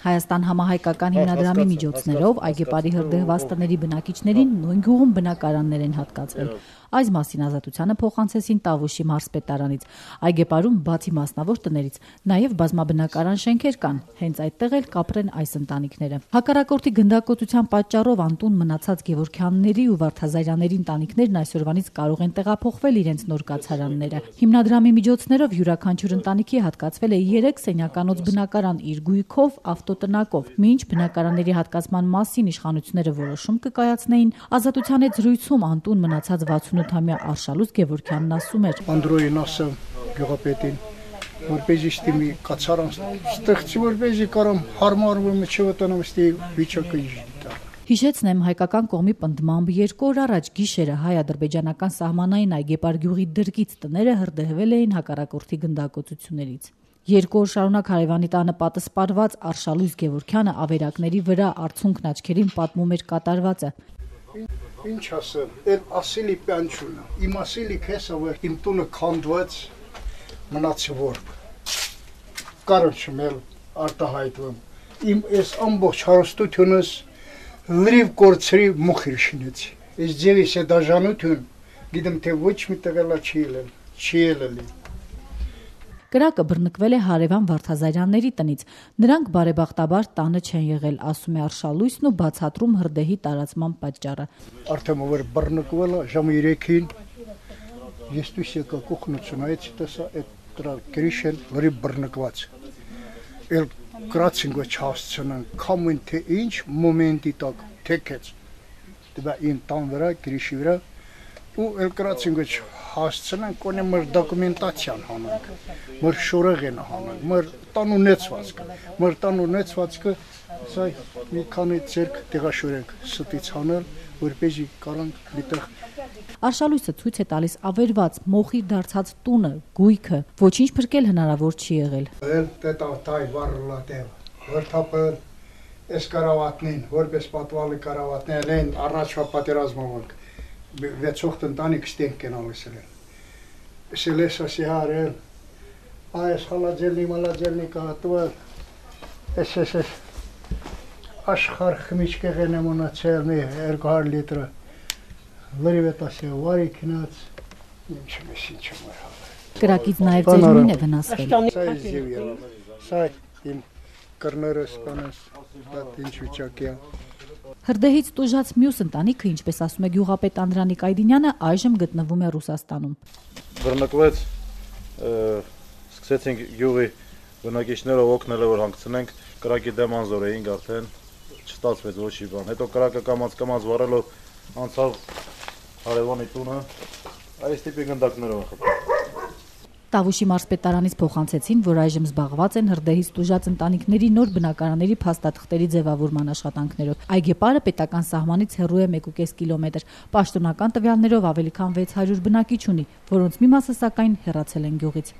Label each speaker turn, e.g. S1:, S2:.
S1: Հայաստան համահայկական հիմնադրամի միջոցներով այգեպարի հրդեհված տների բնակիչներին նույն գյուղում բնակարաններ են հատկացվել։ Այս մասին ազատությանը փոխանցեցին Տավուշի մարզպետարանից։ Այգեպարում բացի մասնավոր տներից նաև բազմաբնակարան շենքեր կան, հենց այդտեղ էլ կապրեն այս ընտանիքները։ Հակառակորդի գնդակոծության պատճառով անտուն մնացած Գևորգյանների ու Վարդազարյանների ընտանիքներն այսօրվանից կարող են տեղափոխվել իրենց նոր կացարանները։ Հիմնադրամի միջոցներով յուրաքանչյուր ընտանիքի հատկացվել է 3 սենյականոց բնակարան իր գույքով, ավտոտնակով։ Մինչ բնակարանների հատկացման մասին իշխանությունները որոշում կկայացնեին, ազատության հետ զրույցում անտուն մնացած 68-ամյա Արշալույս Գևորգյանն ասում էր.
S2: Անդրոյին ասեմ գյուղապետին, որպեսզի ստիմի կացարան ստեղծի, որպեսզի կարամ հարմարվում չվտանամ ստի վիճակը իժդա։
S1: Հիշեցնեմ, հայկական կողմի պնդմամբ 2 օր առաջ գիշերը հայ-ադրբեջանական սահմանային այգեպար գյուղի դրկից տները հրդեհվել էին հակառակորդի գնդակոծություններից։ 2 օր շարունակ հարևանի տանը պատսպարված Արշալույս Գևորգյանը ավերակների վրա արցունքն աչքերին պատմում էր կատարվածը։
S2: Ինչ ասեմ, էլ ասելի պյանչունը, իմ ասելի քեսը, որ իմ տունը քանդված մնացի որբ, կարոչում էլ արտահայտվում, իմ ես ամբողջ հարստությունս լրիվ կորցրի մուխիր շինեցի, ես ձևիս է դաժանություն, գիտեմ թե ոչ մի տղելա չի ելելի։
S1: Կրակը բռնկվել է հարևան Վարդազարյանների տնից, նրանք բարեբախտաբար տանը չեն եղել, ասում է Արշալույսն ու բացատրում հրդեհի տարածման պատճառը։
S2: Արդեն որ բռնկվել է ժամը 3-ին, ես դուս եկա կողնությունայից տեսա այդ դրա գրիշեն լրիվ բռնկված։ Էլ գրացին ոչ հասցնան, կամեն թե ինչ մոմենտի տակ թեքեց։ Դե իմ տան վրա, գրիշի վրա ու էլ գրացին ոչ հասցնան, կոնե մեր դոկումենտացիան հանանք, մեր շորեղեն հանանք, մեր տան ունեցվածքը, սա մի քանի ձերք տեղաշորենք ստից հանել, որպեսզի կարանք միտեղ։
S1: Արշալույսը ցույց է տալիս ավերված մոխիր դարձած տունը, գույքը, ոչինչ փրկել հնարավոր չի եղել։
S2: Տետավտայ վառլատև, հրթապել, այս կարավատնին, որպես պատվալի կարավատնեն են առաջվա պատերազմանք, վեցողտ ընտանիք ստենք են ալիսել են։ Սելես ասի հարել, այս հալաջելնի կահատվել, ես աշխար խմիչկեղեն եմ ունացել մի 200 լիտրը, լրիվ էտ ասի վարի կինած, ինչ մր հավել։
S1: Կրակից նաև ձեր նույն է վնասվել։
S2: Սա ես ձև եղավ, սա իմ կրները սպանես, ինչ վիճակի է։
S1: Հրդեհից տուժած մյուս ընտանիքը, ինչպես ասում է գյուղապետ Անդրանիկ Այդինյանը, այժմ գտնվում է Ռուսաստանում։
S3: Բռնկվեց, սկսեցինք գյուղի բնակիչներով օգնել որ հանգցնենք, կրակի դեմ անզոր էինք արդեն, չստացվեց ոչի բան։ Հետո կրակը կամած վառելով անցավ հարևանի տունը, այս տիպի գնդակներով խփել։
S1: Տավուշի մարզպետարանից փոխանցեցին, որ այժմ զբաղված են հրդեհից տուժած ընտանիքների նոր բնակարանների փաստաթղթերի ձևավորման աշխատանքներով։ Այգեպարը պետական սահմանից հեռու է 1.5 կիլոմետր։ Պաշտոնական տվյալներով ավելի քան 600 բնակիչ ունի, որոնց մի մասը սակայն հեռացել են գյուղից։